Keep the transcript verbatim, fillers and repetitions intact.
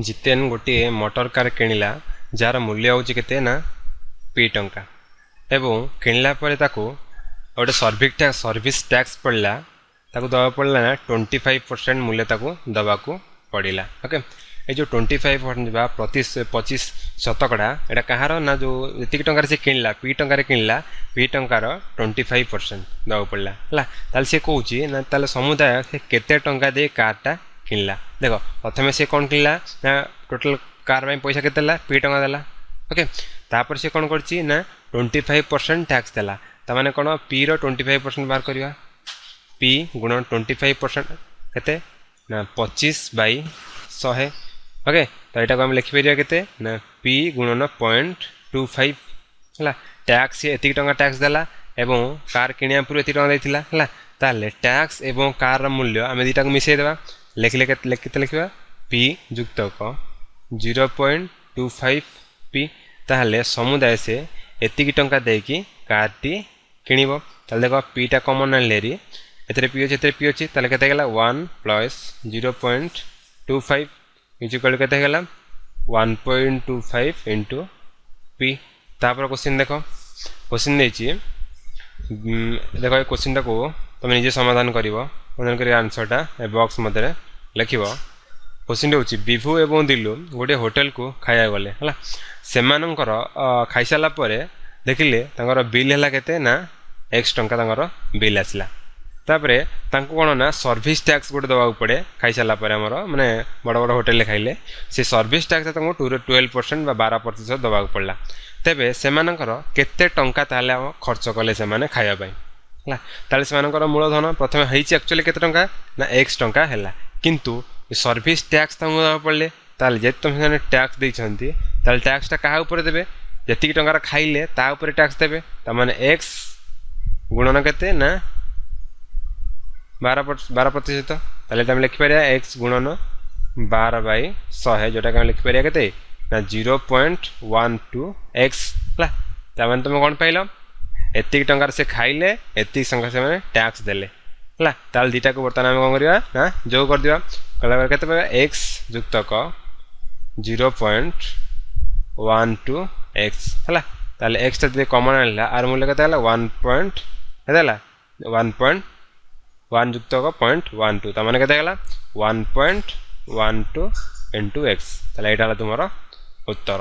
ଜିତେନ ଗୋଟିଏ motor car କିଣିଲା ଯାହାର ମୂଲ୍ୟ ହେଉଛି କେତେ ନା ପି ଟଙ୍କା ଏବଂ କିଣିଲା ପରେ ତାକୁ ଗୋଟେ ସର୍ଭିସ୍ ଟ୍ୟାକ୍ସ ସର୍ଭିସ୍ ଟ୍ୟାକ୍ସ ପଡ଼ିଲା ତାକୁ ଦେବାକୁ ପଡ଼ିଲା ନା ଟ୍ୱେଣ୍ଟି ଫାଇଭ୍ ପରସେଣ୍ଟ ମୂଲ୍ୟ ତାକୁ ଦେବାକୁ ପଡ଼ିଲା ଓକେ ଏଇ ଯେଉଁ ଟ୍ୱେଣ୍ଟି ଫାଇଭ୍ ପରସେଣ୍ଟ ବା ପ୍ରତି ପଚିଶ ଶତକଡ଼ା ଏଇଟା କାହାର ନା ଯେଉଁ ଯେତିକି ଟଙ୍କାରେ ସେ କିଣିଲା ପି ଟଙ୍କାରେ କିଣିଲା ପି ଟଙ୍କାର ଟ୍ୱେଣ୍ଟି ଫାଇଭ୍ ପରସେଣ୍ଟ ଦେବାକୁ ପଡ଼ିଲା ହେଲା ତାହେଲେ ସେ କହୁଛି ନା ତାହେଲେ ସମୁଦାୟ ସେ କେତେ ଟଙ୍କା ଦେଇ କାର୍ଟା କିଣିଲା ଦେଖ ପ୍ରଥମେ ସେ କ'ଣ କିଣିଲା ନା ଟୋଟାଲ୍ କାର୍ ପାଇଁ ପଇସା କେତେ ଦେଲା ପି ଟଙ୍କା ଦେଲା ଓକେ ତାପରେ ସେ କ'ଣ କରିଛି ନା ଟ୍ୱେଣ୍ଟି ଫାଇଭ୍ ପରସେଣ୍ଟ ଟ୍ୟାକ୍ସ ଦେଲା ତାମାନେ କ'ଣ ପିର ଟ୍ୱେଣ୍ଟି ଫାଇଭ୍ ପରସେଣ୍ଟ ବାହାର କରିବା ପି ଗୁଣ ଟ୍ୱେଣ୍ଟି ଫାଇଭ୍ ପରସେଣ୍ଟ କେତେ ନା ପଚିଶ ବାଇ ଶହେ ଓକେ ତ ଏଇଟାକୁ ଆମେ ଲେଖିପାରିବା କେତେ ନା ପି ଗୁଣନ ପଏଣ୍ଟ ଟୁ ଫାଇଭ୍ ହେଲା ଟ୍ୟାକ୍ସ ସିଏ ଏତିକି ଟଙ୍କା ଟ୍ୟାକ୍ସ ଦେଲା ଏବଂ କାର୍ କିଣିବା ପୂର୍ବରୁ ଏତିକି ଟଙ୍କା ଦେଇଥିଲା ହେଲା ତାହେଲେ ଟ୍ୟାକ୍ସ ଏବଂ କାର୍ର ମୂଲ୍ୟ ଆମେ ଦୁଇଟାକୁ ମିଶାଇ ଦେବା ଲେଖିଲେ କେତେ କେତେ ଲେଖିବା P ଯୁକ୍ତକ zero point two five P ତାହେଲେ ସମୁଦାୟ ସେ ଏତିକି ଟଙ୍କା ଦେଇକି କାର୍ଟି କିଣିବ ତାହେଲେ ଦେଖ ପିଟା କମନ୍ ଆଣିଲେ ହେରି ଏଥିରେ ପି ଅଛି ଏଥିରେ ପି ଅଛି ତାହେଲେ କେତେ ହେଇଗଲା one plus zero point two five is equal କେତେ ହେଇଗଲା one point two five into P ତାପରେ କୋଶ୍ଚିନ୍ ଦେଖ କୋଶ୍ଚିନ୍ ଦେଇଛି ଦେଖ ଏ କୋଶ୍ଚିନ୍ଟାକୁ ତୁମେ ନିଜେ ସମାଧାନ କରିବ ସମାଧାନ କରି ଆନ୍ସର୍ଟା ଏ ବକ୍ସ ମଧ୍ୟରେ ଲେଖିବ କୋଶ୍ଚିନ୍ଟି ହେଉଛି ବିଭୁ ଏବଂ ଦିଲୁ ଗୋଟିଏ ହୋଟେଲକୁ ଖାଇବାକୁ ଗଲେ ହେଲା ସେମାନଙ୍କର ଖାଇସାରିଲା ପରେ ଦେଖିଲେ ତାଙ୍କର ବିଲ୍ ହେଲା କେତେ ନା ଏକ୍ସ ଟଙ୍କା ତାଙ୍କର ବିଲ୍ ଆସିଲା ତାପରେ ତାଙ୍କୁ କ'ଣ ନା ସର୍ଭିସ୍ ଟ୍ୟାକ୍ସ ଗୋଟେ ଦେବାକୁ ପଡ଼େ ଖାଇସାରିଲା ପରେ ଆମର ମାନେ ବଡ଼ ବଡ଼ ହୋଟେଲରେ ଖାଇଲେ ସେ ସର୍ଭିସ୍ ଟ୍ୟାକ୍ସ ତାଙ୍କୁ ଟୁ ଟୁଏଲ୍ଭ ପରସେଣ୍ଟ ବା ବାର ପ୍ରତିଶତ ଦେବାକୁ ପଡ଼ିଲା ତେବେ ସେମାନଙ୍କର କେତେ ଟଙ୍କା ତାହେଲେ ଆମ ଖର୍ଚ୍ଚ କଲେ ସେମାନେ ଖାଇବା ପାଇଁ ହେଲା ତାହେଲେ ସେମାନଙ୍କର ମୂଳଧନ ପ୍ରଥମେ ହେଇଛି ଆକ୍ଚୁଆଲି କେତେ ଟଙ୍କା ନା ଏକ୍ସ ଟଙ୍କା ହେଲା କିନ୍ତୁ ସର୍ଭିସ୍ ଟ୍ୟାକ୍ସ ତାଙ୍କୁ ଦେବାକୁ ପଡ଼ିଲେ ତାହେଲେ ଯେହେତୁ ତୁମେ ସେମାନେ ଟ୍ୟାକ୍ସ ଦେଇଛନ୍ତି ତାହେଲେ ଟ୍ୟାକ୍ସଟା କାହା ଉପରେ ଦେବେ ଯେତିକି ଟଙ୍କାର ଖାଇଲେ ତା ଉପରେ ଟ୍ୟାକ୍ସ ଦେବେ ତାମାନେ ଏକ୍ସ ଗୁଣନ କେତେ ନା ବାର ବାର ପ୍ରତିଶତ ତାହେଲେ ଆମେ ଲେଖିପାରିବା ଏକ୍ସ ଗୁଣନ ବାର ବାଇ ଶହେ ଯେଉଁଟାକି ଆମେ ଲେଖିପାରିବା କେତେ ନା zero point one two X ହେଲା ତାମାନେ ତୁମେ କ'ଣ ପାଇଲ ଏତିକି ଟଙ୍କାର ସେ ଖାଇଲେ ଏତିକି ଟଙ୍କା ସେମାନେ ଟ୍ୟାକ୍ସ ଦେଲେ ହେଲା ତାହେଲେ ଦୁଇଟାକୁ ବର୍ତ୍ତମାନ ଆମେ କ'ଣ କରିବା ନା ଯୋଗ କରିଦେବା କଲା ପରେ କେତେ ପାଇବା X ଯୁକ୍ତକ zero point one two X ହେଲା ତାହେଲେ ଏକ୍ସଟା ଯଦି କମନ୍ ଆଣିଲା ଆର ମୂଲ୍ୟ କେତେ ହେଲା ୱାନ୍ ପଏଣ୍ଟ କେତେ ହେଲା ୱାନ୍ ପଏଣ୍ଟ ୱାନ୍ ଯୁକ୍ତକ ପଏଣ୍ଟ ୱାନ୍ ଟୁ ତାମାନେ କେତେ ହେଇଗଲା one point one two into X ତାହେଲେ ଏଇଟା ହେଲା ତୁମର ଉତ୍ତର।